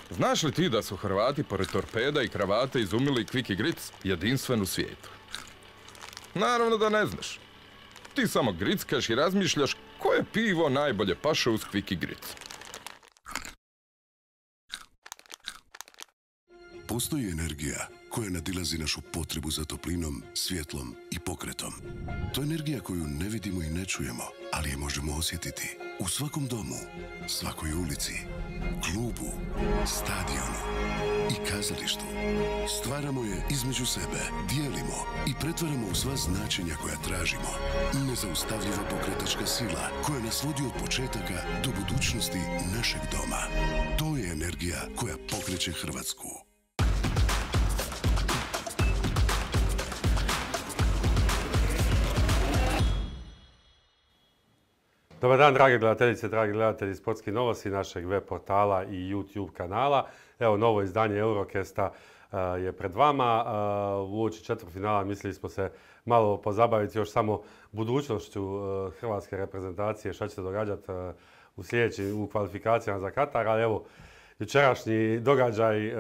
Znaš li ti da su Hrvati pored torpeda i kravate izumili Kviki Gric jedinstven u svijetu? Naravno da ne znaš. Ti samo grickaš i razmišljaš koje pivo najbolje paše uz Kviki Gric. Postoji energija koja nadilazi našu potrebu za toplinom, svjetlom i pokretom. To je energija koju ne vidimo i ne čujemo, ali je možemo osjetiti u svakom domu, svakoj ulici, klubu, stadionu i kazalištu. Stvaramo je između sebe, dijelimo i pretvaramo u sva značenja koja tražimo. Nezaustavljiva pokretačka sila koja nas vodi od početaka do budućnosti našeg doma. To je energija koja pokreće Hrvatsku. Dobar dan, drage gledateljice, dragi gledatelji Sportskih novosti našeg web portala i YouTube kanala. Evo, novo izdanje Eurocasta je pred vama. Uoči četvrtfinala mislili smo se malo pozabaviti još samo budućnošću hrvatske reprezentacije, šta će se događati u kvalifikacijama za Katar, ali evo, jučerašnji događaj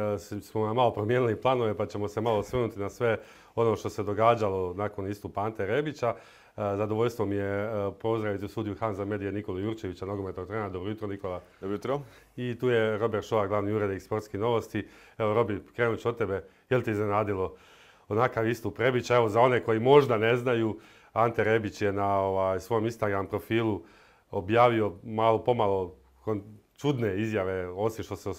smo malo promijenili planove pa ćemo se malo osvrnuti na sve ono što se događalo nakon istupa Ante Rebića. Zadovoljstvo mi je pozdraviti u studiju Hanza Medije Nikolu Jurčevića, nogometnog trenera. Dobro jutro, Nikola. Dobro jutro. I tu je Robert Šoa, glavni urednik Sportskih novosti. Evo, Robi, krenut ću od tebe. Je li ti iznenadilo onakav istup Rebića? Evo, za one koji možda ne znaju, Ante Rebić je na svom Instagram profilu objavio malo pomalo čudne izjave,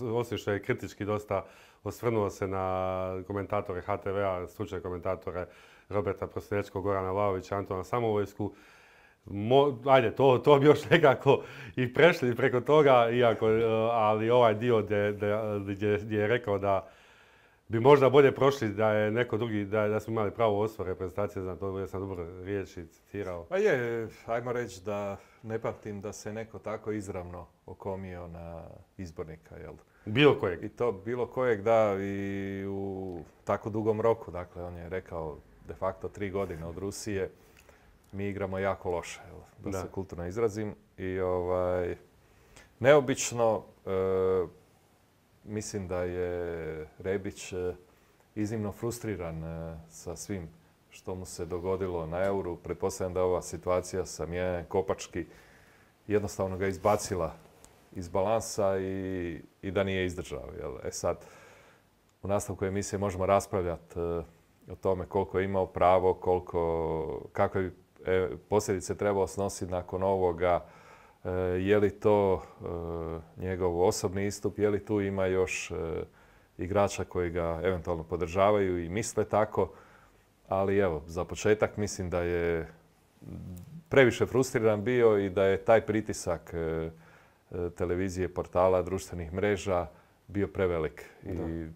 osim što je kritički dosta osvrnuo se na komentatore HTV-a, stručne komentatore Roberta Prosinečkog, Gorana Vlahovića, Antona Samovojsku. Ajde, to bi još nekako i prešli preko toga, ali ovaj dio gdje je rekao da bi možda bolje prošli da je neko drugi, da smo imali pravo osvor reprezentacije, znam to, sam dobro riječi citirao. Pa je, ajmo reći da ne pamtim da se neko tako izravno okomio na izbornika, jel? Bilo kojeg. I to bilo kojeg, da, i u tako dugom roku. Dakle, on je rekao de facto 3 godine od Rusije mi igramo jako loše, jel? Da se kulturno izrazim. I neobično, mislim da je Rebić iznimno frustriran sa svim što mu se dogodilo na Euru. Pretpostavljam da je ova situacija sa Miljane Kopački jednostavno ga izbacila iz balansa i da nije izdržao. Jel? Sad, u nastavku emisije možemo raspravljati o tome koliko je imao pravo, kakve bi posljedice trebao snositi nakon ovoga, je li to njegov osobni istup, je li tu ima još igrača koji ga eventualno podržavaju i misle tako. Ali evo, za početak mislim da je previše frustriran bio i da je taj pritisak televizije, portala, društvenih mreža bio prevelik. I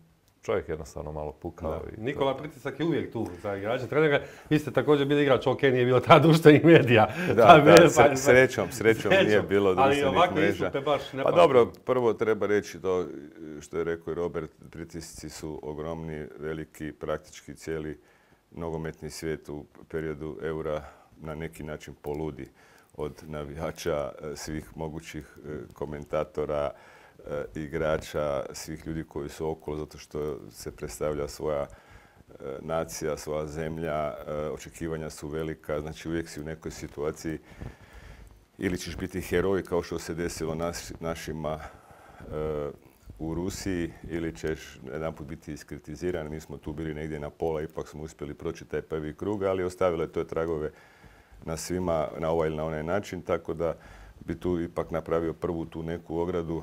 čovjek jednostavno malo pukao. Nikola, pritisak je uvijek tu za igrače, trenera. Vi ste također bili igrač, ok, nije bilo ta društvenih medija. Srećom nije bilo društvenih mreža. Baš ne pa dobro, prvo treba reći to što je rekao i Robert, pritisci su ogromni, veliki, praktički cijeli nogometni svijet u periodu Eura na neki način poludi od navijača, svih mogućih komentatora, igrača, svih ljudi koji su okolo zato što se predstavlja svoja nacija, svoja zemlja, očekivanja su velika, znači uvijek si u nekoj situaciji ili ćeš biti heroj kao što se desilo našima u Rusiji ili ćeš jedanput biti iskritiziran. Mi smo tu bili negdje na pola, ipak smo uspjeli proći taj prvi krug, ali ostavilo je to tragove na svima na ovaj ili na onaj način, tako da bi tu ipak napravio prvu tu neku ogradu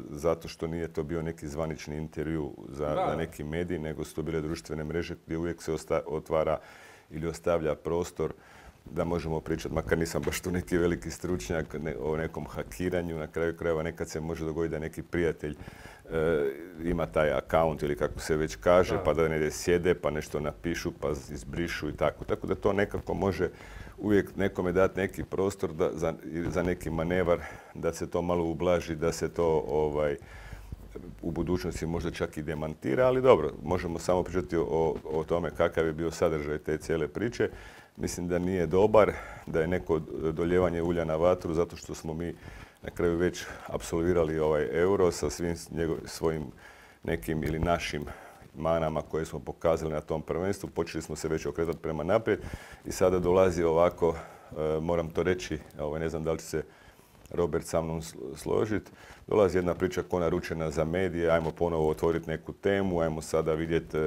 zato što nije to bio neki zvanični intervju za neki medij, nego su to bile društvene mreže gdje uvijek se otvara ili ostavlja prostor da možemo pričati, makar nisam baš tu neki veliki stručnjak o nekom hakiranju. Na kraju krajeva nekad se može dogoditi da neki prijatelj ima taj account ili kako se već kaže, pa da negdje sjede, pa nešto napišu, pa izbrišu i tako. Tako da to nekako može uvijek nekome dati neki prostor za neki manevar, da se to malo ublaži, da se to u budućnosti možda čak i demantira, ali dobro, možemo samo pričati o tome kakav je bio sadržaj te cijele priče. mislim da nije dobar, da je neko doljevanje ulja na vatru zato što smo mi na kraju već apsolvirali ovaj euro sa svim svojim nekim ili našim manama koje smo pokazali na tom prvenstvu. Počeli smo se već okretati prema naprijed i sada dolazi ovako, moram to reći, ne znam da li će se Robert sa mnom složiti, dolazi jedna priča ko naručena za medije, ajmo ponovo otvoriti neku temu, ajmo sada vidjeti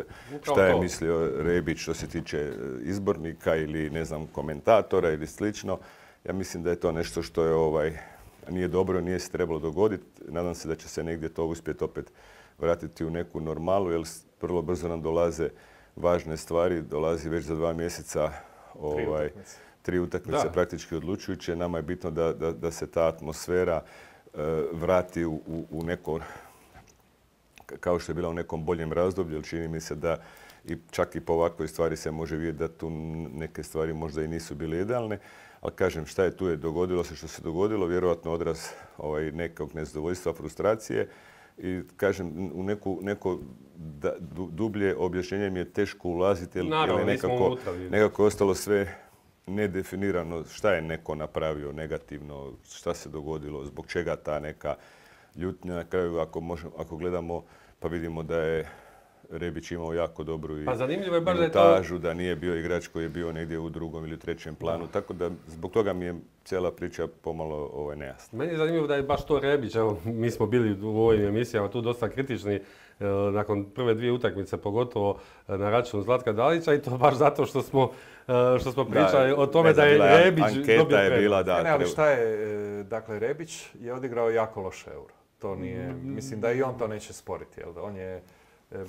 šta je mislio Rebić što se tiče izbornika ili ne znam komentatora ili slično. Ja mislim da je to nešto što je nije dobro, nije se trebalo dogoditi. Nadam se da će se negdje to uspjeti opet vratiti u neku normalu, jer vrlo brzo nam dolaze važne stvari. Dolazi već za 2 mjeseca 3 utakmice praktički odlučujuće. Nama je bitno da se ta atmosfera vrati u neko, kao što je bila u nekom boljem razdoblju, jer čini mi se da čak i po ovakvoj stvari se može vidjeti da tu neke stvari možda i nisu bile idealne. Ali kažem, šta je tu je dogodilo se što se dogodilo, vjerojatno odraz nekog nezadovoljstva, frustracije. I kažem, u neko dublje objašnjenje mi je teško ulaziti, jer nekako je ostalo sve nedefinirano šta je neko napravio negativno, šta se dogodilo, zbog čega ta neka ljutnja. Na kraju, ako gledamo, pa vidimo da je Rebić imao jako dobru i minutažu, da nije bio igrač koji je bio negdje u 2. ili 3. planu. Tako da zbog toga mi je cijela priča pomalo nejasna. Meni je zanimljivo da je baš to Rebić. Evo, mi smo bili u ovim emisijama tu dosta kritični nakon prve 2 utakmice, pogotovo na račun Zlatka Dalića, i to baš zato što smo pričali o tome da je Rebić dobio prednost. Ali šta je, dakle, Rebić je odigrao jako loš euro. To nije, mislim da i on to neće sporiti. Jel? On je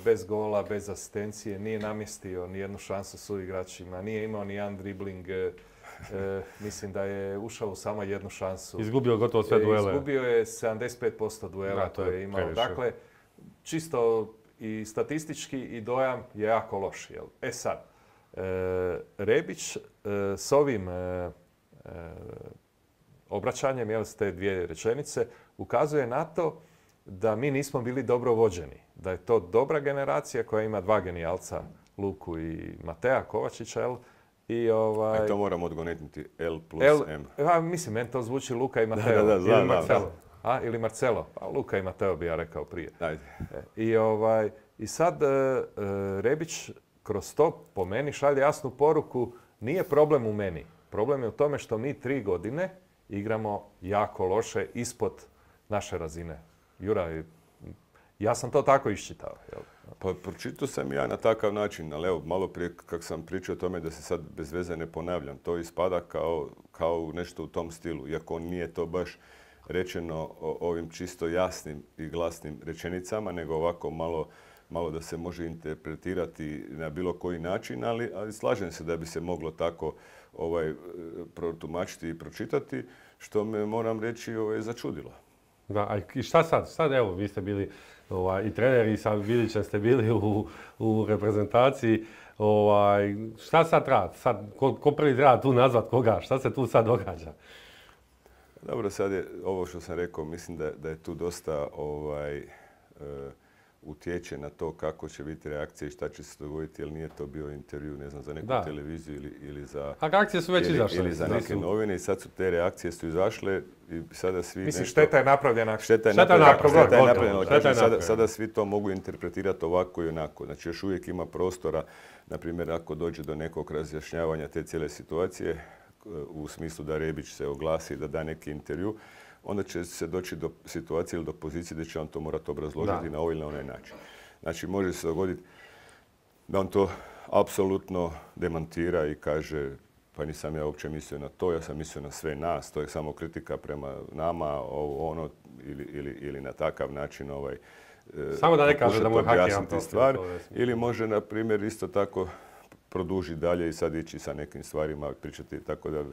bez gola, bez asistencije, nije namjestio ni jednu šansu suigračima, nije imao ni jedan dribling. Mislim da je ušao u samo jednu šansu. Izgubio gotovo sve duele. Izgubio je 75% duela koje je imao. Previše. Dakle, čisto i statistički i dojam je jako loš. Jel? Sad, Rebić s ovim obraćanjem, s te 2 rečenice, ukazuje na to da mi nismo bili dobro vođeni. Da je to dobra generacija koja ima 2 genijalca, Luku i Matea Kovačića. Jel? I to moramo odgonetnuti L plus M. Mislim, meni to zvuči Luka i Mateo. Ili Marcelo. Ili Marcelo. Pa Luka i Mateo bi ja rekao prije. I sad Rebić kroz to po meni šalje jasnu poruku, nije problem u meni. Problem je u tome što mi 3 godine igramo jako loše ispod naše razine. Jura, ja sam to tako iščitao. Pa pročitao sam ja na takav način, ali evo, malo prije kako sam pričao o tome da se sad bez veze ne ponavljam, to ispada kao nešto u tom stilu, iako nije to baš rečeno ovim čisto jasnim i glasnim rečenicama, nego ovako malo da se može interpretirati na bilo koji način, ali slažem se da bi se moglo tako protumačiti i pročitati, što me, moram reći, začudilo. Da, a i šta sad? Sad evo, vi ste bili i treneri, i sa Bilićem ste bili u reprezentaciji. Šta sad treba? Ko prvi treba tu nazvat koga? Šta se tu sad događa? Dobro, sad je ovo što sam rekao, mislim da je tu dosta utječe na to kako će biti reakcija i šta će se dogoditi, jer nije to bio intervju, ne znam, za neku televiziju ili za... A reakcije su već izašle. Ili za neke novine i sad su te reakcije izašle i sada svi Mislim, šteta je napravljena. Šteta je napravljena. Sada svi to mogu interpretirati ovako i onako. Znači, još uvijek ima prostora, na primjer, ako dođe do nekog razjašnjavanja te cijele situacije, u smislu da Rebić se oglasi, da da neki intervju, onda će se doći do situacije ili do pozicije da će on to morati obrazložiti na ovaj ili na onaj način. Znači, može se dogoditi da on to apsolutno demantira i kaže pa nisam ja uopće mislio na to, ja sam mislio na sve nas, to je samo kritika prema nama, ono, ili na takav način samo da ne kaže da mu je hakiran stvar. Ili može, na primjer, isto tako produžiti dalje i sad ići sa nekim stvarima, pričati tako da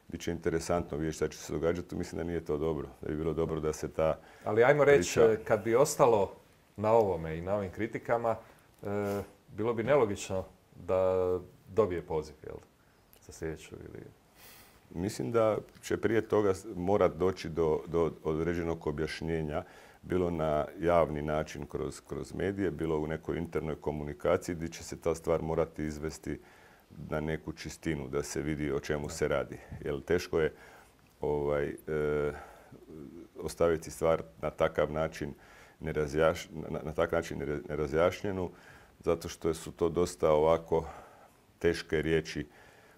bit će interesantno vidjeti šta će se događati. Mislim da nije to dobro. Da bi bilo dobro da se ta Ali ajmo reći, kad bi ostalo na ovome i na ovim kritikama, bilo bi nelogično da dobije poziv, jel? Za sljedeću ili... Mislim da će prije toga morat doći do određenog objašnjenja, bilo na javni način kroz medije, bilo u nekoj internoj komunikaciji gdje će se ta stvar morati izvesti na neku čistinu, da se vidi o čemu se radi. Jer teško je ostaviti stvar na takav način nerazjašnjenu, zato što su to dosta ovako teške riječi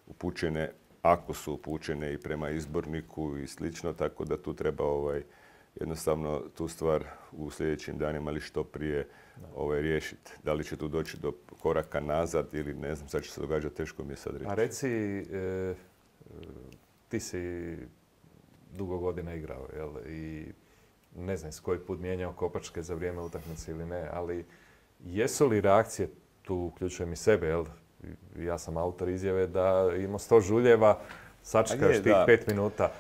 upućene, ako su upućene i prema izborniku i slično, tako da tu treba jednostavno tu stvar u sljedećim danima ili što prije riješiti. Da li će tu doći do koraka nazad ili ne znam, sad će se događati, teško mi je sad reći. A reci, ti si dugo godina igrao, jel? I ne znam s koji put mijenjao kopačke za vrijeme utakmice ili ne, ali jesu li reakcije, tu uključujem i sebe, jel? Ja sam autor izjave da imamo 100 žuljeva, sačekaš tih 5 minuta.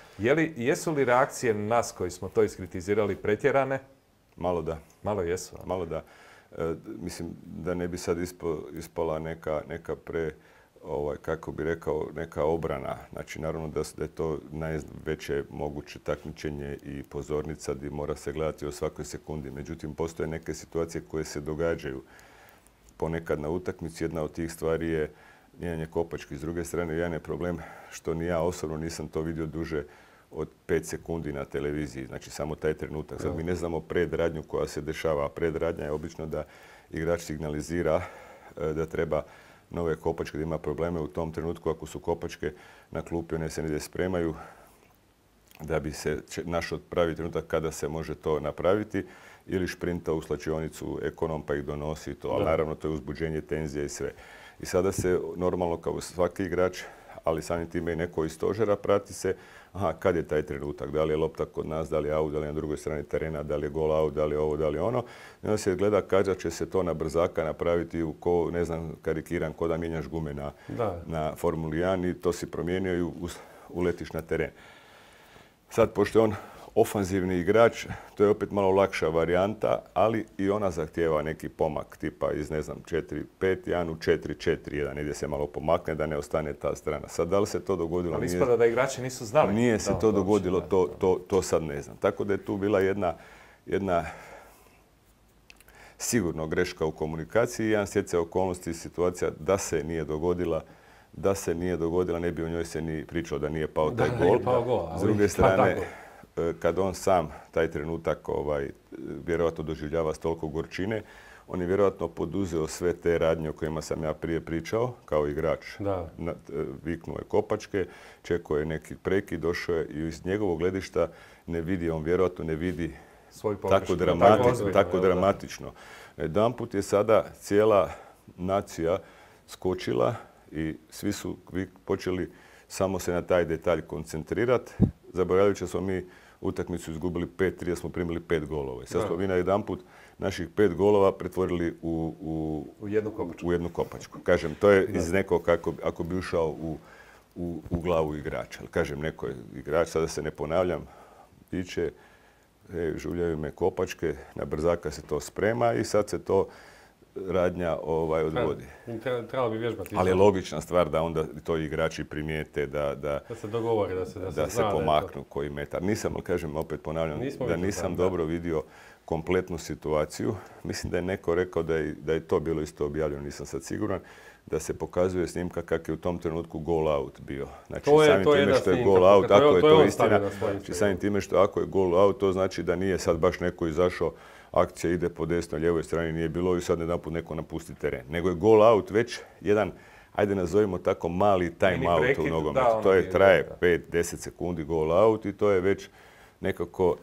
Jesu li reakcije nas koji smo to iskritizirali pretjerane? Malo da. Malo jesu. Malo da. Mislim da ne bi sad ispala neka kako bi rekao, neka obrana. Znači, naravno da je to najveće moguće takmičenje i pozornica gdje mora se gledati o svakoj sekundi. Međutim, postoje neke situacije koje se događaju ponekad na utakmici. Jedna od tih stvari je mijenjanje kopački. S druge strane, jedan je problem što ni ja osobno nisam to vidio duže od 5 sekundi na televiziji. Znači, samo taj trenutak. Sad mi ne znamo predradnju koja se dešava. Predradnja je obično da igrač signalizira da treba nove kopačke, da ima probleme u tom trenutku. Ako su kopačke na klupi, one se negdje spremaju da bi se našao pravi trenutak kada se može to napraviti, ili šprinta u slačionicu ekonom pa ih donosi to. Ali naravno to je uzbuđenje, tenzija i sve. I sada se normalno kao svaki igrač, ali samim time i neko iz stožera, prati se kad je taj trenutak, da li je lopta kod nas, da li je out, da li je na drugoj strani terena, da li je gol out, da li je ovo, da li je ono. I onda se gleda kada će se to na brzaka napraviti, ne znam, karikiran, ko da mijenjaš gume na Formuli 1 i to si promijenio i uletiš na teren. Sad, pošto je on ofanzivni igrač, to je opet malo lakša varijanta, ali i ona zahtijeva neki pomak tipa iz, 4-5-1 u 4-4-1, negdje se malo pomakne da ne ostane ta strana. Sad, da li se to dogodilo? Ali ispada da igrači nisu znali. Nije se to dogodilo, to sad ne znam. Tako da je tu bila jedna sigurno greška u komunikaciji, jedan stjecaj okolnosti i situacija da se nije dogodila, ne bi o njoj se ni pričao da nije pao taj gol. S druge strane, kad on sam taj trenutak vjerojatno doživljava s toliko gorčine, on je vjerojatno poduzeo sve te radnje o kojima sam ja prije pričao, kao igrač. Viknuo je kopačke, čekao je neki prekid, došao je i iz njegovog gledišta on vjerojatno ne vidi tako dramatično. Jedanput je sada cijela nacija skočila i svi su počeli samo se na taj detalj koncentrirati, zaboravljajući da smo mi utakmicu izgubili 5-3, da smo primili 5 golova. Sad smo mi na jedanput naših 5 golova pretvorili u jednu kopačku. Kažem, to je iz nekog ako bi ušao u glavu igrača. Kažem, neko je igrač, sada se ne ponavljam, piće, žuljaju me kopačke, na brzaka se to sprema i sad se to radnja odvodi. Trebalo bi vježbati. Ali je logična stvar da onda to igrači primijete, da se dogovore, da se pomaknu koji metar. Nisam, kažem, opet ponavljam, da nisam dobro vidio kompletnu situaciju. Mislim da je neko rekao da je to bilo isto objavljeno, nisam sad siguran, da se pokazuje snimka kak je u tom trenutku goal out bio. Znači, samim time što je goal out, ako je to istina, samim time što ako je goal out, to znači da nije sad baš neko izašao, akcija ide po desnoj, lijevoj strani, nije bilo i sad jedanput neko napusti teren. Nego je goal out već jedan, ajde nazovimo tako, mali time out u nogometu. To je traje 5-10 sekundi goal out i to je već nekako...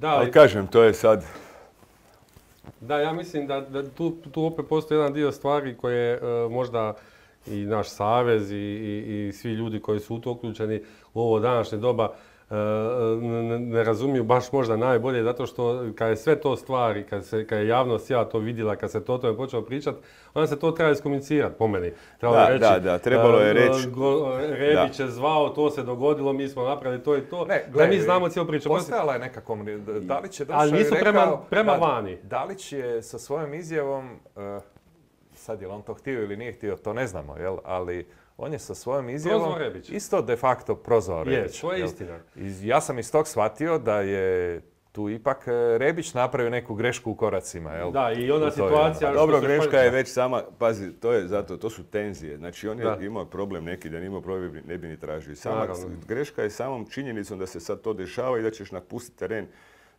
Ali kažem, to je sad... Da, ja mislim da tu opet postoji jedan dio stvari koje možda i naš savez i svi ljudi koji su u to uključeni u ovo današnje doba ne razumiju baš možda najbolje, zato što kad je sve to stvari, kad je javnost to vidjela, kad se to o tome počelo pričati, onda se to treba iskomunicirati po meni. Trebalo je reći. Rebić je zvao, to se dogodilo, mi smo napravili to i to. Da mi znamo cijelu priču. Postojala je neka komunikacija. Dalić je došao i rekao... prema vani. Dalić je sa svojom izjavom, sad je li on to htio ili nije htio, to ne znamo, jel? Ali on je sa svojom izjavom isto de facto prozvao Rebić. To je istina. Ja sam iz tog shvatio da je tu ipak Rebić napravio neku grešku u koracima. Jel? Da, i ona situacija... Dobro, greška je već sama, pazi, to su tenzije. Znači, on je imao problem neki, da nije imao problem, ne bi ni tražio. Greška je samom činjenicom da se sad to dešava i da ćeš napustiti teren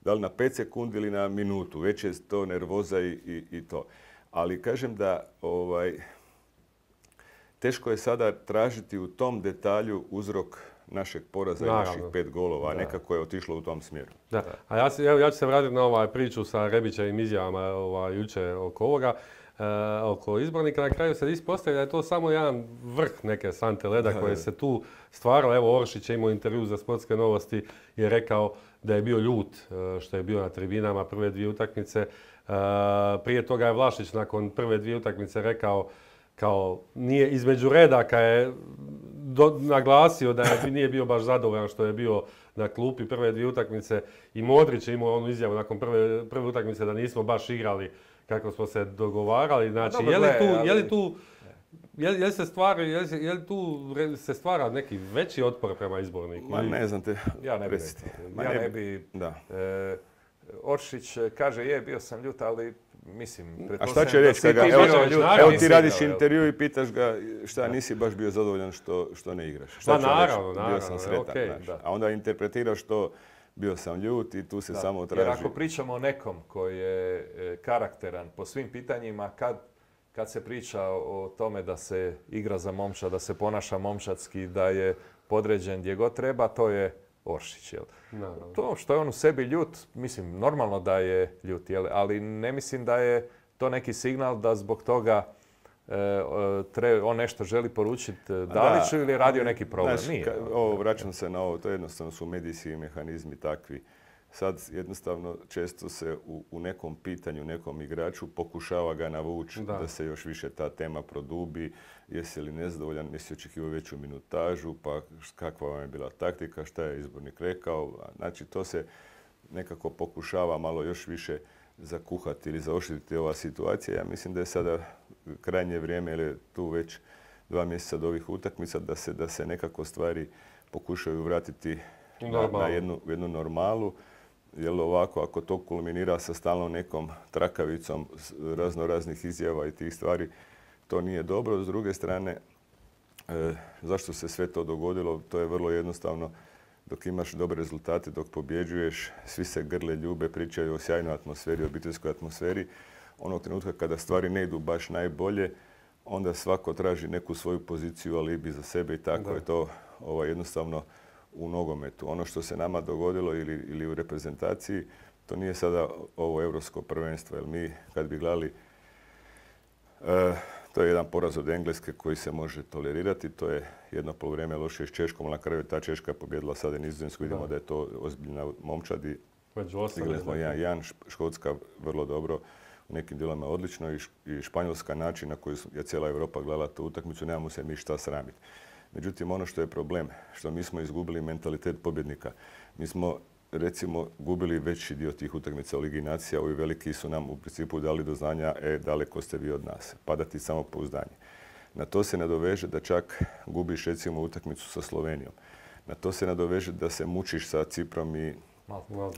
da li na 5 sekundi ili na minutu. Već je to nervoza i to. Ali kažem da teško je sada tražiti u tom detalju uzrok našeg poraza i naših 5 golova, a nekako je otišlo u tom smjeru. Da. A ja ću se vratiti na priču sa Rebićevim izjavama jučer oko ovoga, oko izbornika. Na kraju se ispostavlja da je to samo jedan vrh neke sante leda koje se tu stvaralo. Evo, Oršić je imao intervju za Sportske novosti i je rekao da je bio ljut što je bio na tribinama prve 2 utakmice. Prije toga je Vlašić nakon prve 2 utakmice rekao kao nije između redaka je naglasio da nije bio baš zadovoljan što je bio na klupi prve 2 utakmice i Modrić je imao onu izjavu nakon prve utakmice da nismo baš igrali kako smo se dogovarali. Znači, je li tu se stvara neki veći otpor prema izborniku? Ma ne znam te. Ja ne bi. Oršić kaže bio sam ljut, ali mislim... A šta će reći? Evo ti radiš intervju i pitaš ga šta nisi baš bio zadovoljan što ne igraš. Šta ću reći? Bio sam sretan. A onda interpretiraš to bio sam ljut i tu se samo traži. Jer ako pričamo o nekom koji je karakteran po svim pitanjima, kad se priča o tome da se igra za momčad, da se ponaša momčadski, da je podređen gdje god treba, to je Oršić. To što je on u sebi ljut, mislim, normalno da je ljut, ali ne mislim da je to neki signal da zbog toga on nešto želi poručiti Daliću ili je radio neki problem. Nije. Vraćam se na ovo, to jednostavno su medijski mehanizmi takvi. Sad jednostavno često se u nekom pitanju, nekom igraču pokušava ga navući da se još više ta tema produbi. Jesi li nezadovoljan, jesi očekivao veću minutažu, pa kakva vam je bila taktika, šta je izbornik rekao. Znači to se nekako pokušava malo još više zakuhati ili zaoštriti ova situacija. Ja mislim da je sada krajnje vrijeme, jer je tu već 2 mjeseca od ovih utakmica, da se nekako stvari pokušaju vratiti na jednu normalu. Jer ovako, ako to kulminira sa stalnom nekom trakavicom raznih izjava i tih stvari, to nije dobro. S druge strane, zašto se sve to dogodilo? To je vrlo jednostavno. Dok imaš dobre rezultate, dok pobjeđuješ, svi se grle, ljube, pričaju o sjajnoj atmosferi, obiteljskoj atmosferi. Onog trenutka kada stvari ne idu baš najbolje, onda svako traži neku svoju poziciju, alibi za sebe i tako je to jednostavno u nogometu. Ono što se nama dogodilo ili u reprezentaciji, to nije sada ovo europsko prvenstvo. Jer mi, kad bi gledali, to je jedan poraz od Engleske koji se može tolerirati. To je jedno poluvrijeme lošije s Češkom, ali na kraju ta Češka je pobjedila sada Nizozemsku. Vidimo da je to ozbiljna momčad. Igrali smo 1-1, Škotska vrlo dobro, u nekim dijelovima odlično i Španjolska način na koji je cijela Europa gledala tu utakmicu, nemamo se mi šta sramiti. Međutim, ono što je problem, što mi smo izgubili mentalitet pobjednika. Mi smo, recimo, gubili veći dio tih utakmica u Ligi nacija. Ovi veliki su nam u principu dali do znanja, daleko ste vi od nas. Pada ti samopouzdanje. Na to se nadoveže da čak gubiš, recimo, utakmicu sa Slovenijom. Na to se nadoveže da se mučiš sa Ciprom i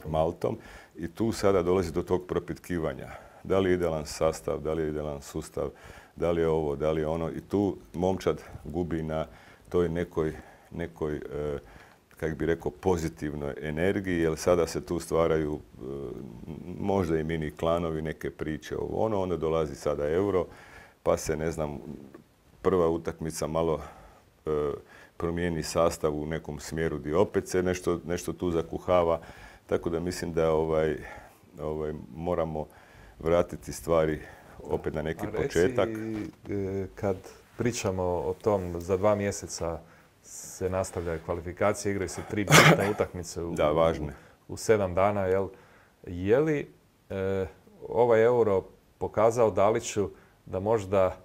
Maltom. I tu sada dolazi do tog propitkivanja. Da li je idealan sastav, da li je idealan sustav, da li je ovo, da li je ono. I tu momčad gubi na toj nekoj kako bi rekao, pozitivnoj energiji, jer sada se tu stvaraju možda i mini klanovi, neke priče ovo ono, onda dolazi sada euro, pa se, ne znam, prva utakmica malo promijeni sastav u nekom smjeru gdje opet se nešto tu zakuhava, tako da mislim da moramo vratiti stvari opet na neki početak. Kad pričamo o tom, za 2 mjeseca se nastavljaju kvalifikacije, igraju se 3 bitne utakmice u 7 dana. Je li ovaj euro pokazao Daliću da možda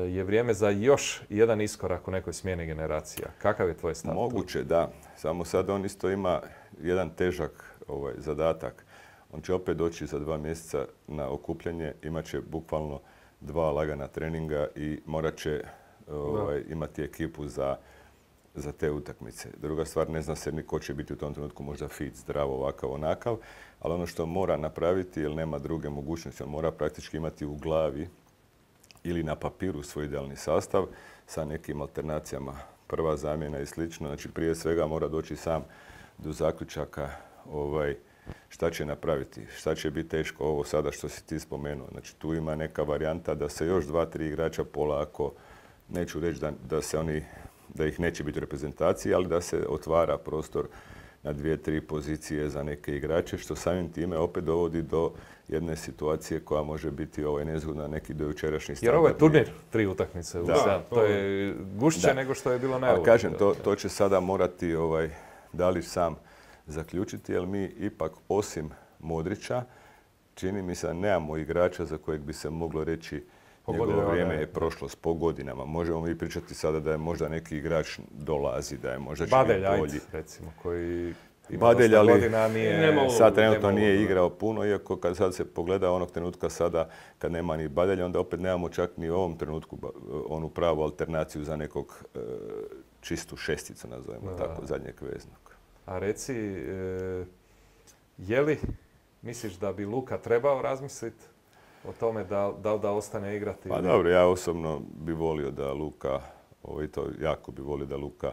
je vrijeme za još jedan iskorak u nekoj smjeni generacija? Kakav je tvoj stav? Moguće, da. Samo sad on isto ima jedan težak zadatak. On će opet doći za 2 mjeseca na okupljanje, imat će bukvalno 2 lagana treninga i morat će imati ekipu za za te utakmice. Druga stvar, ne zna se ni ko će biti u tom trenutku možda fit, zdrav, ovakav, onakav, ali ono što mora napraviti, jer nema druge mogućnosti, on mora praktički imati u glavi ili na papiru svoj idealni sastav sa nekim alternacijama, prva zamjena i slično. Znači prije svega mora doći sam do zaključaka šta će napraviti, šta će biti teško ovo sada što si ti spomenuo. Znači tu ima neka varijanta da se još 2-3 igrača polako, neću reći da ih neće biti u reprezentaciji, ali da se otvara prostor na 2-3 pozicije za neke igrače, što samim time opet dovodi do jedne situacije koja može biti nezgodna neki do jučerašnji standard. Jer ovo je turnir 3 utakmice. To je gušće nego što je bilo na Euro. Kažem, to će sada morati Dalić sam zaključiti, jer mi ipak osim Modrića, čini mi se da nemamo igrača za kojeg bi se moglo reći njegovo vrijeme je prošlost po godinama. Možemo mi pričati sada da je možda neki igrač dolazi, da je možda će biti bolji. Recimo, koji Badelj, ali sad trenutno nije igrao puno, iako kad sad se pogleda onog trenutka sada, kad nema ni Badelja, onda opet nemamo čak ni u ovom trenutku onu pravu alternaciju za nekog čistu šesticu, nazovemo tako, zadnjeg veznog. A reci, je li misliš da bi Luka trebao razmisliti o tome da ostane igrati? Pa dobro, ja osobno bi volio da Luka, jako bi volio da Luka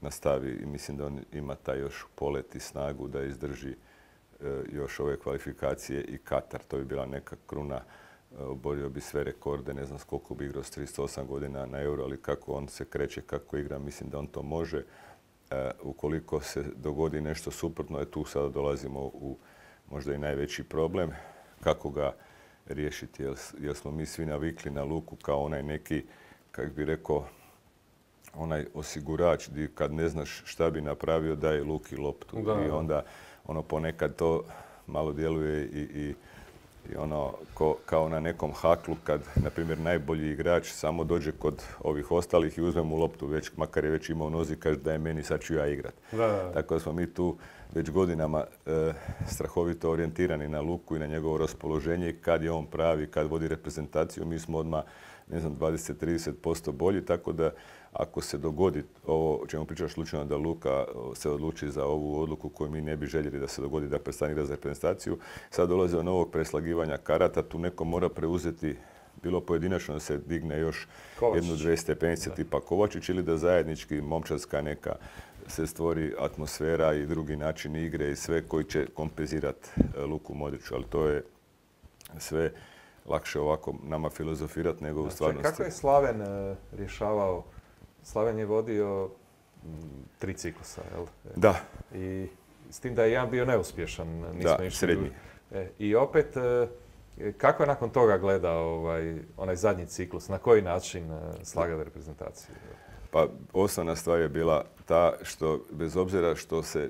nastavi i mislim da on ima taj još polet i snagu da izdrži još ove kvalifikacije i Katar. To bi bila neka kruna, oborio bi sve rekorde, ne znam s koliko bi igrao s 38 godina na Euro, ali kako on se kreće, kako igra, mislim da on to može. Ukoliko se dogodi nešto suprotno, tu sada dolazimo u možda i najveći problem. Kako ga riješiti, jer smo mi svi navikli na Luku kao onaj neki, kako bi rekao, onaj osigurač gdje kad ne znaš šta bi napravio daje Luki loptu. I onda ponekad to malo djeluje i kao na nekom haklu kad, na primjer, najbolji igrač samo dođe kod ovih ostalih i uzme mu loptu, makar je već imao nozi, kaže da je meni, sad ću ja igrat. Tako da smo mi tu već godinama strahovito orijentirani na Luku i na njegovo raspoloženje, kad je on pravi, kad vodi reprezentaciju, mi smo odmah, 20-30% bolji, tako da ako se dogodi ovo o čemu pričaš slučajno da Luka se odluči za ovu odluku koju mi ne bi željeli da se dogodi, da prestane igrati za reprezentaciju, sad dolazi do novog preslagivanja karata, tu neko mora preuzeti, bilo pojedinačno da se digne još jednu, dve stepenice tipa Kovačić ili da zajednički momčadska neka se stvori atmosfera i drugi način igre i sve koji će kompenzirati Luku Modriću, ali to je sve lakše ovako nama filozofirati nego u stvarnosti. Kako je Slaven rješavao? Slaven je vodio 3 ciklusa, jel? Da. I s tim da je jedan bio neuspješan. Srednji. I opet, kako je nakon toga gledao onaj zadnji ciklus? Na koji način slagao reprezentaciju? Pa osnovna stvar je bila ta što, bez obzira što se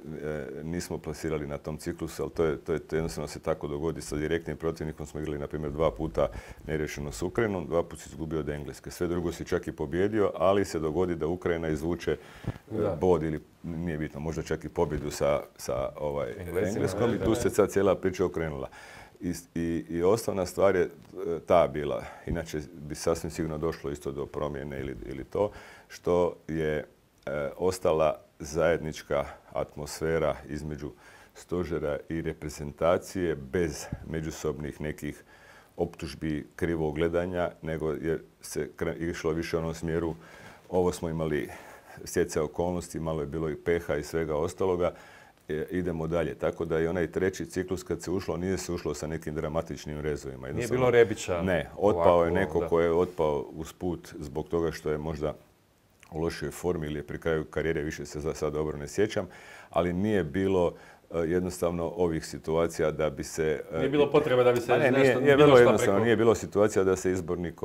nismo plasirali na tom ciklusu, ali to jednostavno se tako dogodi sa direktnim protivnikom. Smo igrali, na primjer, 2 puta neriješeno s Ukrajinom, 2 puta si izgubio od Engleske. Sve drugo si čak i pobjedio, ali se dogodi da Ukrajina izvuče bod ili, nije bitno, možda čak i pobjedu sa Engleskom i tu se sad cijela priča okrenula. I osnovna stvar je ta bila, inače bi sasvim sigurno došlo isto do promjene ili to, što je ostala zajednička atmosfera između stožera i reprezentacije bez međusobnih nekih optužbi, krivog gledanja, nego je se išlo više u onom smjeru, ovo smo imali stjecaj okolnosti, malo je bilo i peha i svega ostaloga, idemo dalje. Tako da i onaj treći ciklus kad se ušlo, nije se ušlo sa nekim dramatičnim rezovima. Nije bilo Rebića? Ne, otpao je neko ko je otpao usput zbog toga što je možda u lošoj formi ili je pri kraju karijere, više se za sad dobro ne sjećam, ali nije bilo jednostavno ovih situacija da bi se... Nije bilo potrebe da bi se nešto... Nije bilo jednostavno, nije bilo situacija da se izbornik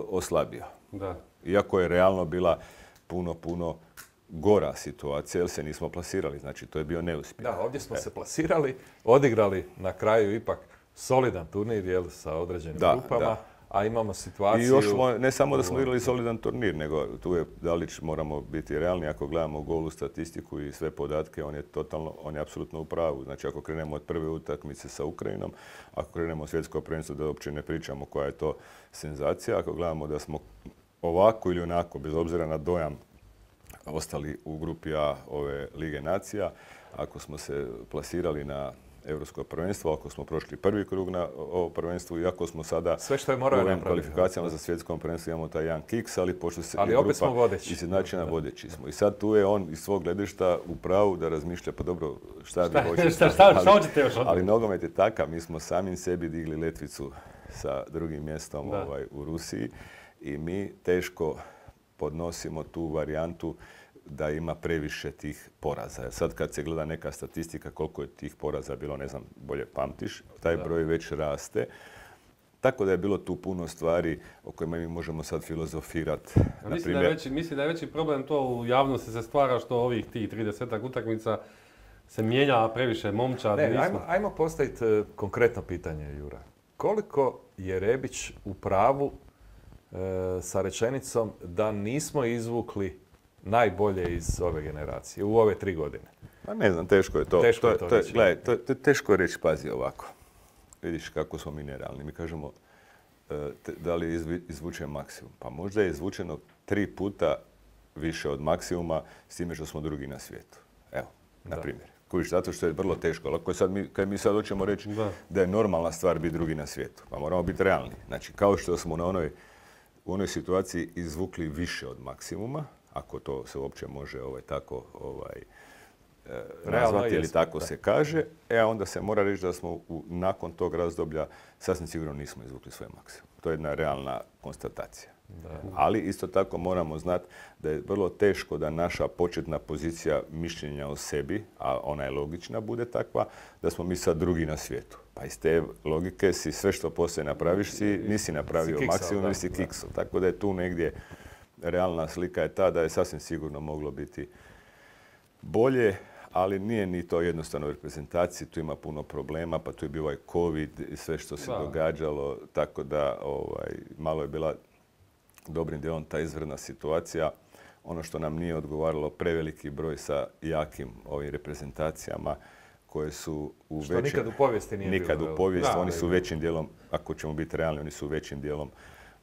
oslabio. Da. Iako je realno bila puno gora situacija, jer se nismo plasirali. Znači, to je bio neuspjeh. Da, ovdje smo se plasirali, odigrali na kraju ipak solidan turnir sa određenim grupama, a imamo situaciju... I još ne samo da smo igrali solidan turnir, nego tu je Dalić, moramo biti realni, ako gledamo golu statistiku i sve podatke, on je apsolutno u pravu. Znači, ako krenemo od prve utakmice sa Ukrajinom, ako krenemo od svjetskog prvenstva, da uopće ne pričamo koja je to senzacija, ako gledamo da smo ovako ili onako, bez obzira na dojam ostali u grupi A ove Lige nacija, ako smo se plasirali na Europsko prvenstvo, ako smo prošli prvi krug na ovo prvenstvo i ako smo sada sve što je u morao kvalifikacijama za svjetsko prvenstvo imamo taj jedan kiks, ali pošto se ali opet smo vodeći. Izjednačena vodeći smo. I sad tu je on iz svog gledišta u pravu da razmišlja, pa dobro, šta vi hoćete? Hoćete još ali nogomet je takav, mi smo samim sebi digli letvicu sa drugim mjestom u Rusiji i mi teško podnosimo tu varijantu da ima previše tih poraza. Sad kad se gleda neka statistika koliko je tih poraza bilo, ne znam, bolje pamtiš, taj broj već raste. Tako da je bilo tu puno stvari o kojima mi možemo sad filozofirati. Mislim da je veći problem to u javnosti se stvara što ovih tih 30 utakmica se mijenja previše momčad. Ajmo postaviti konkretno pitanje, Jura. Koliko je Rebić u pravu sa rečenicom da nismo izvukli najbolje iz ove generacije u ove 3 godine? Pa ne znam, teško je to. Gledaj, teško je reći, pazi ovako. Vidiš kako smo mi nerealni. Mi kažemo da li je izvučen maksimum. Pa možda je izvučeno 3 puta više od maksimuma s time što smo drugi na svijetu. Evo, na primjer. Kojiš, zato što je vrlo teško. Kad mi sad hoćemo reći da je normalna stvar biti drugi na svijetu, pa moramo biti realni. Znači, kao što smo u onoj situaciji izvukli više od maksimuma, ako to se uopće može tako nazvati ili tako se kaže, onda se mora reći da smo nakon tog razdoblja sasvim sigurno nismo izvukli svoj maksimum. To je jedna realna konstatacija. Ali isto tako moramo znati da je vrlo teško da naša početna pozicija mišljenja o sebi, a ona je logična, bude takva da smo mi sad drugi na svijetu. Pa iz te logike si sve što poslije napraviš nisi napravio maksimum ili si kiksao. Tako da je tu negdje realna slika je ta da je sasvim sigurno moglo biti bolje, ali nije ni to jednostavno u reprezentaciji, tu ima puno problema, pa tu je bio ovaj COVID i sve što se događalo, tako da malo je bila dobrim dijelom ta izvanredna situacija. Ono što nam nije odgovaralo, preveliki broj sa jakim ovim reprezentacijama koje su što nikad u povijesti nije bilo. Nikad u povijesti, oni su većim dijelom, ako ćemo biti realni, oni su većim dijelom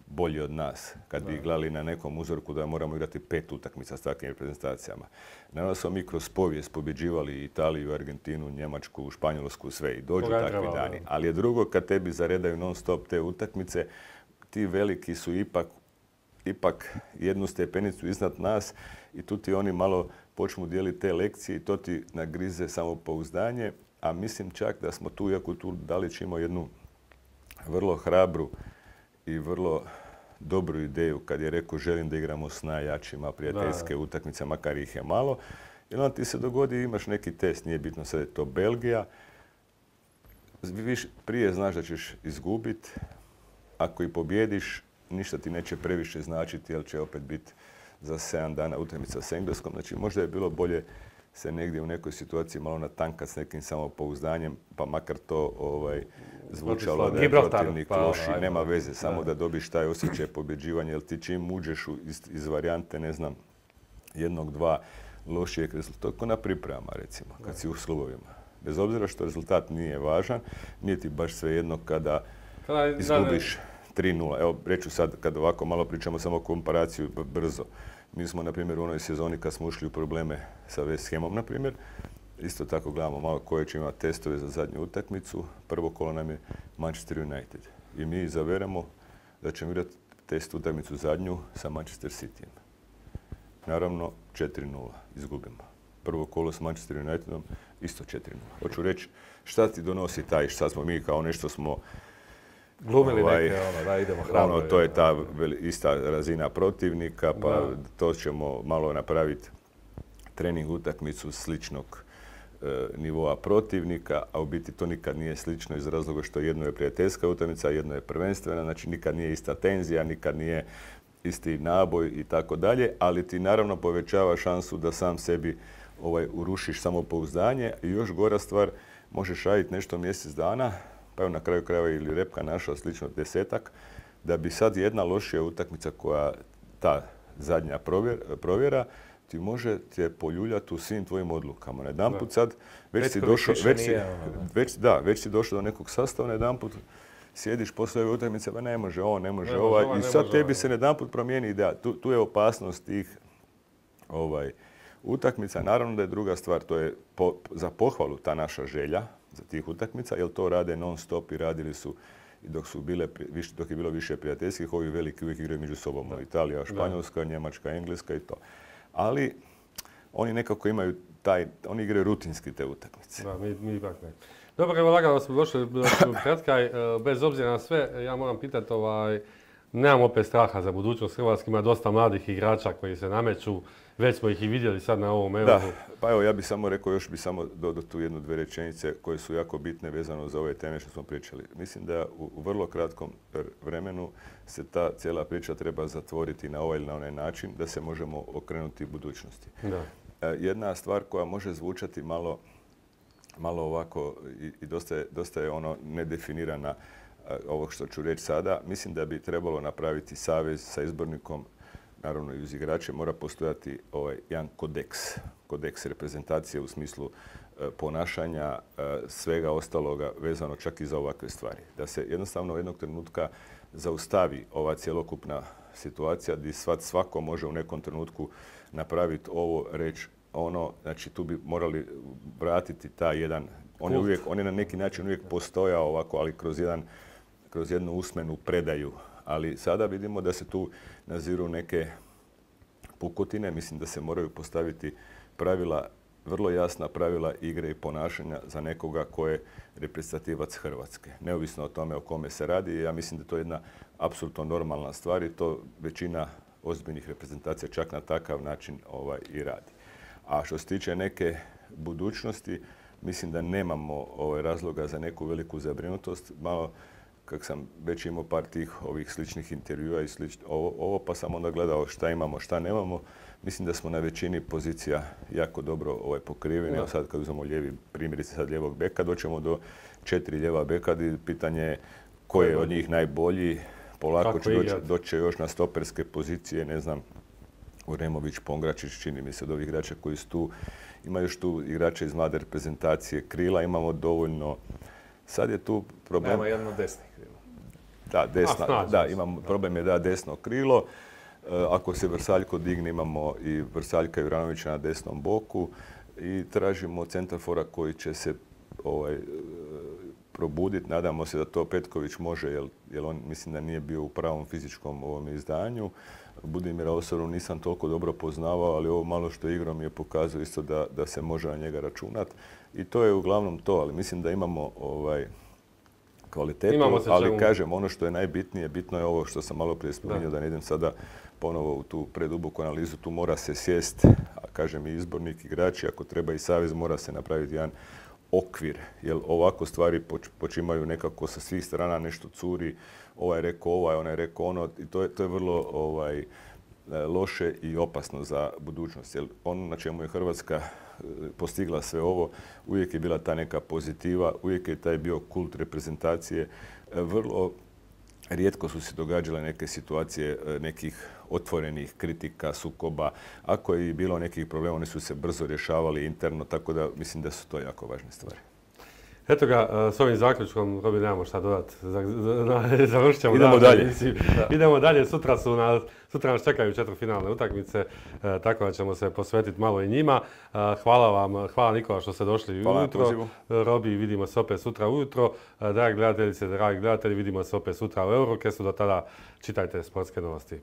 bolji od nas. Kad bi gledali na nekom uzorku da moramo igrati 5 utakmica s takvim reprezentacijama. Naravno smo mi kroz povijest pobjeđivali Italiju, Argentinu, Njemačku, Španjolsku, sve i dođu takvi dani. Ali je drugo kad tebi zaredaju non stop te utakmice, ti veliki su ipak jednu stepenicu iznad nas i tu ti oni malo počnu dijeliti te lekcije i to ti nagrize samopouzdanje. A mislim čak da smo tu, iako tu Dalić imao jednu vrlo hrabru i vrlo dobru ideju kad je rekao želim da igramo s najjačima prijateljske utakmice, makar ih je malo. I onda ti se dogodi, imaš neki test, nije bitno sad je to Belgija. Prije znaš da ćeš izgubiti, ako i pobjediš, ništa ti neće previše značiti, jer će opet biti za 7 dana utakmica s Engleskom. Znači možda je bilo bolje se negdje u nekoj situaciji malo natankat s nekim samopouzdanjem, pa makar to zvučalo da je protivnik loši, nema veze, samo da dobiš taj osjećaj pobjeđivanja, jer ti čim uđeš iz varijante, ne znam, 1-2 lošijeg rezultata, to je kao na pripremama recimo, kad si u slubovima. Bez obzira što rezultat nije važan, nije ti baš svejedno kada izgubiš 3-0. Evo, reću sad, kad ovako malo pričamo samo komparaciju brzo. Mi smo, na primjer, u onoj sezoni kad smo ušli u probleme sa West Hamom, na primjer, isto tako gledamo malo koje će imati testove za zadnju utakmicu. Prvo kolo nam je Manchester United. I mi izaberemo da ćemo igrati test utakmicu zadnju sa Manchester Cityjem. Naravno, 4-0 izgubimo. Prvo kolo s Manchester Unitedom, isto 4-0. Hoću reći, šta ti donosi taj, šta smo mi kao nešto smo glumili neke, da idemo hrabro. To je ta ista razina protivnika, pa to ćemo malo napraviti trening utakmicu sličnog nivoa protivnika, a u biti to nikad nije slično iz razloga što jedno je prijateljska utakmica, jedno je prvenstvena, znači nikad nije ista tenzija, nikad nije isti naboj i tako dalje, ali ti naravno povećava šansu da sam sebi urušiš samopouzdanje i još gora stvar, možeš raditi nešto mjesec dana, pa evo na kraju krajeva ili Repka našla slično 10-ak, da bi sad jedna lošija utakmica koja ta zadnja provjera ti može te poljuljati u svim tvojim odlukama. Najedanput sad već si došao do nekog sastava, najedanput sjediš poslije ove utakmice, pa ne može ovo, ne može ova i sad tebi se najedanput promijeni ideja. Tu je opasnost tih utakmica. Naravno da je druga stvar, to je za pohvalu ta naša želja za tih utakmica, jer to rade non stop i radili su i dok je bilo više prijateljskih, ovi veliki uvijek igraju među sobom. Italija, Španjolska, Njemačka, Engleska i to. Ali oni nekako imaju oni igraju rutinski te utakmice. Da, mi ipak ne. Dobro, evo lagano smo došli do kraj. Bez obzira na sve, ja moram pitati, nemam opet straha za budućnost Hrvatske, ima dosta mladih igrača koji se nameću, već smo ih i vidjeli sad na ovom Euru. Da, pa evo ja bih samo rekao, još bih samo dodao tu jednu, dvije rečenice koje su jako bitne vezano za ove teme što smo pričali. Mislim da u vrlo kratkom vremenu se ta cijela priča treba zatvoriti na ovaj ili na onaj način da se možemo okrenuti budućnosti. Da. Jedna stvar koja može zvučati malo ovako i dosta je ono nedefinirana ovog što ću reći sada. Mislim da bi trebalo napraviti savez sa izbornikom, naravno i uz igrače, mora postojati jedan kodeks reprezentacije u smislu ponašanja, svega ostaloga vezano čak i za ovakve stvari. Da se jednostavno jednog trenutka zaustavi ova cjelokupna situacija gdje svako može u nekom trenutku napraviti ovo, reći ono, znači tu bi morali vratiti taj jedan, on je na neki način uvijek postojao ovako, ali kroz jednu usmenu predaju. Ali sada vidimo da se tu naziru neke pukotine. Mislim da se moraju postaviti pravila, vrlo jasna pravila igre i ponašanja za nekoga ko je reprezentativac Hrvatske. Neovisno o tome o kome se radi. Ja mislim da to je jedna apsolutno normalna stvar i to većina ozbiljnih reprezentacija čak na takav način i radi. A što se tiče neke budućnosti, mislim da nemamo razloga za neku veliku zabrinutost. Malo kako sam već imao par tih ovih sličnih intervjua i ovo, pa sam onda gledao šta imamo, šta nemamo. Mislim da smo na većini pozicija jako dobro pokriveni. Evo sad kad uzmemo lijevi, primjerice sad lijevog beka, doćemo do 4 lijeva beka i pitanje je ko je od njih najbolji. Polako će doći još na stoperske pozicije, ne znam, Uremović, Pongračić, čini mi se od ovih igrača koji su tu. Ima još tu igrača iz mlade reprezentacije, krila imamo dovoljno. Sad je tu problem... Nema jedno desno krilo. Da, problem je desno krilo. Ako se Vrsaljko digne, imamo i Vrsaljka i Juranovića na desnom boku i tražimo centarfora koji će se probuditi. Nadamo se da to Petković može, jer on mislim da nije bio u pravom fizičkom ovom izdanju. Budimira Osoru nisam toliko dobro poznavao, ali ovo malo što igrao mi je pokazao isto da se može na njega računati. I to je uglavnom to, ali mislim da imamo kvalitetu, ali kažem, ono što je najbitnije, bitno je ovo što sam malo prije spominjao, da ne idem sada ponovo u tu preduboku analizu, tu mora se sjest, a kažem i izbornik, igrači, ako treba i savez, mora se napraviti jedan okvir, jer ovako stvari počimaju nekako sa svih strana, nešto curi, ovaj rekao onaj rekao ono, i to je vrlo loše i opasno za budućnost, jer ono na čemu je Hrvatska postigla sve ovo, uvijek je bila ta neka pozitiva, uvijek je taj bio kult reprezentacije. Vrlo rijetko su se događale neke situacije nekih otvorenih kritika, sukoba. Ako je i bilo nekih problema, oni su se brzo rješavali interno, tako da mislim da su to jako važne stvari. Eto ga, s ovim zaključkom, Robi, nemamo šta dodati. Završit ćemo. Idemo dalje. Idemo dalje. Sutra nas čekaju četvrtfinalne utakmice, tako da ćemo se posvetiti malo i njima. Hvala vam, hvala Nikola što ste došli ujutro. Robi, vidimo se opet sutra ujutro. Dragi gledateljice, dragi gledatelji, vidimo se opet sutra u Eurocastu. Do tada čitajte sportske novosti.